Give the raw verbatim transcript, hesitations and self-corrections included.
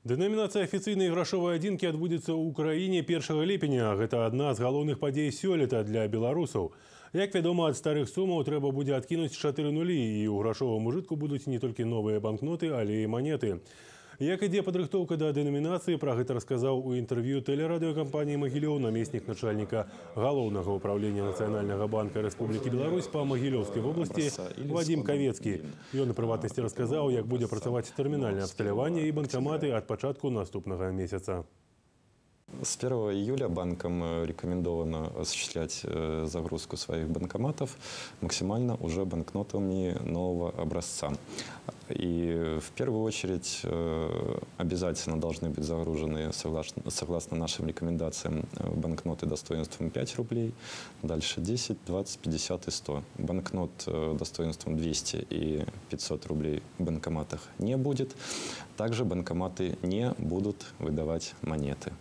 Дэнамінацыя афіцыйнай грашовай адзінкі адбудзецца ў краіне першага ліпеня. Гэта адна з галоўных падзей сёлета для беларусаў. Як вядома, ад старых сумаў трэба будзе адкінуць чатыры нулі, і ў грашовым ужытку будуць не толькі новыя банкноты, але і манеты. Як ідзе падрыхтоўка да дэнамінацыі, пра гэта расказаў у інтэрв'ю тэлерадыёкампаніі «Магілёў» намеснік начальніка галоўнага ўправлення Нацыянальнага банка Рэспублікі Беларусь па Магілёўскай вобласці Вадзім Кавецкі. Ён у прыватнасці расказаў, як будзе працаваць тэрмінальнае абсталяванне і банкаматы ад пачатку наступнага месяца. С первого июля банкам рекомендовано осуществлять загрузку своих банкоматов максимально уже банкнотами нового образца. И в первую очередь обязательно должны быть загружены, согласно, согласно нашим рекомендациям, банкноты достоинством пять рублей, дальше десять, двадцать, пятьдесят и сто. Банкнот достоинством двести и пятьсот рублей в банкоматах не будет. Также банкоматы не будут выдавать монеты.